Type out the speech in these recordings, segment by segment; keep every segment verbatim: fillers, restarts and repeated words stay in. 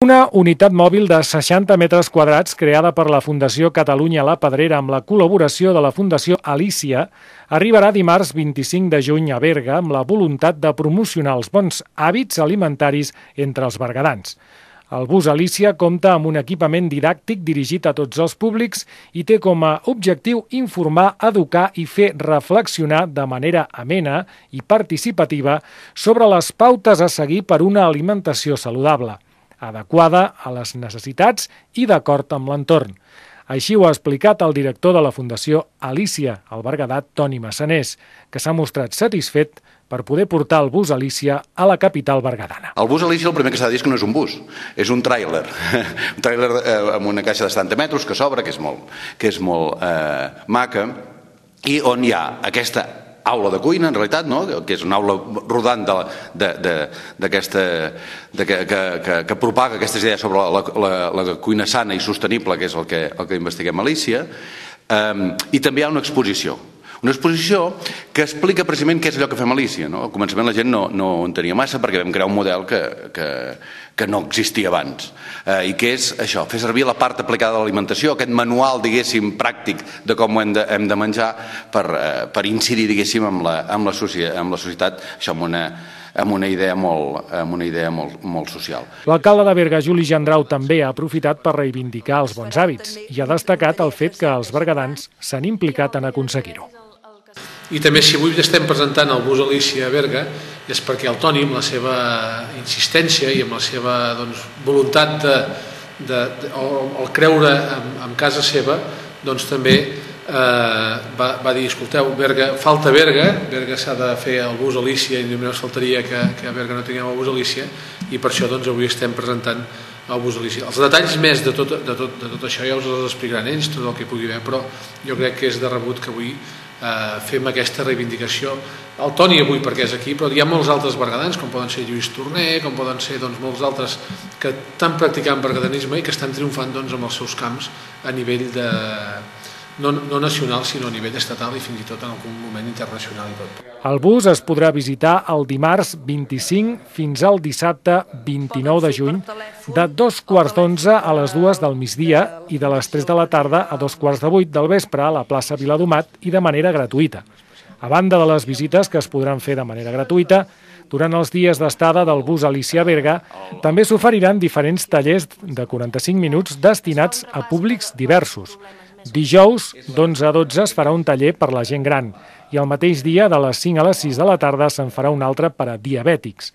Una unitat mòbil de seixanta metres quadrats creada per la Fundació Catalunya La Pedrera amb la col·laboració de la Fundació Alícia arribarà dimarts vint-i-cinc de juny a Berga amb la voluntat de promocionar els bons hàbits alimentaris entre els berguedans. El bus Alícia compta amb un equipament didàctic dirigit a tots els públics i té com a objectiu informar, educar i fer reflexionar de manera amena i participativa sobre les pautes a seguir per una alimentació saludable, adequada a les necessitats i d'acord amb l'entorn. Així ho ha explicat el director de la Fundació Alícia, el berguedà Toni Massanés, que s'ha mostrat satisfet per poder portar el bus Alícia a la capital berguedana. El bus Alícia el primer que s'ha de dir és que no és un bus, és un tràiler. Un tràiler amb una caixa de setanta metres que s'obre, que és molt, que és molt eh, maca, i on hi ha aquesta aula de cuina, en realitat, no? Que és una aula rodant d'aquesta que, que, que, que propaga aquestes idees sobre la, la, la cuina sana i sostenible, que és el que, el que investiguem a Alícia, um, i també hi ha una exposició. Una exposició que explica precisament què és allò que fem a Alícia. No? Al començament la gent no, no en tenia massa perquè vam crear un model que, que, que no existia abans eh, i que és això, fer servir la part aplicada de l'alimentació, aquest manual, diguéssim, pràctic de com ho hem de, hem de menjar per, eh, per incidir, diguéssim, amb la, amb la, societat, amb la societat, això amb una, amb una idea molt, amb una idea molt, molt social. L'alcalde de Berga, Juli Gendrau, també ha aprofitat per reivindicar els bons hàbits i ha destacat el fet que els berguedans s'han implicat en aconseguir-ho. I també, si avui estem presentant el bus Alícia a Berga, és perquè el Toni, amb la seva insistència i amb la seva doncs, voluntat de, de, de, o el creure en, en casa seva, doncs també eh, va, va dir, escolteu, Berga, falta Berga, Berga s'ha de fer el bus Alícia i només faltaria que, que a Berga no tinguem el bus Alícia, i per això doncs, avui estem presentant el bus Alícia. Els detalls més de tot, de, tot, de tot això ja us els explicaran ells, tot el que pugui haver, però jo crec que és de rebut que avui Uh, fem aquesta reivindicació. El Toni avui perquè és aquí, però hi ha molts altres berguedans, com poden ser Lluís Torner, com poden ser doncs, molts altres que estan practicant berguedanisme i que estan triomfant doncs, amb els seus camps a nivell de, no, no nacional, sinó a nivell estatal i fins i tot en algun moment internacional i tot. El bus es podrà visitar el dimarts vint-i-cinc fins al dissabte vint-i-nou de juny de dos quarts d'onze a les dues del migdia i de les tres de la tarda a dos quarts de vuit del vespre a la plaça Viladomat i de manera gratuïta. A banda de les visites que es podran fer de manera gratuïta, durant els dies d'estada del bus Alícia a Berga també s'oferiran diferents tallers de quaranta-cinc minuts destinats a públics diversos. Dijous, d'onze a dotze, es farà un taller per la gent gran i el mateix dia, de les cinc a les sis de la tarda, se'n farà un altre per a diabètics.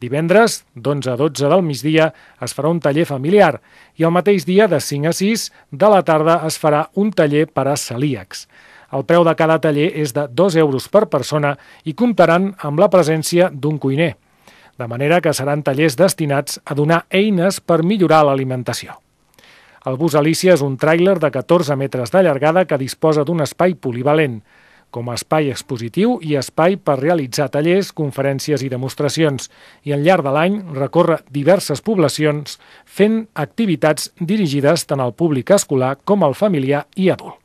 Divendres, d'onze a dotze del migdia, es farà un taller familiar i el mateix dia, de cinc a sis de la tarda, es farà un taller per a celíacs. El preu de cada taller és de dos euros per persona i comptaran amb la presència d'un cuiner, de manera que seran tallers destinats a donar eines per millorar l'alimentació. El bus Alícia és un tràiler de catorze metres de llargada que disposa d'un espai polivalent, com a espai expositiu i espai per realitzar tallers, conferències i demostracions, i al llarg de l'any recorre diverses poblacions fent activitats dirigides tant al públic escolar com al familiar i adult.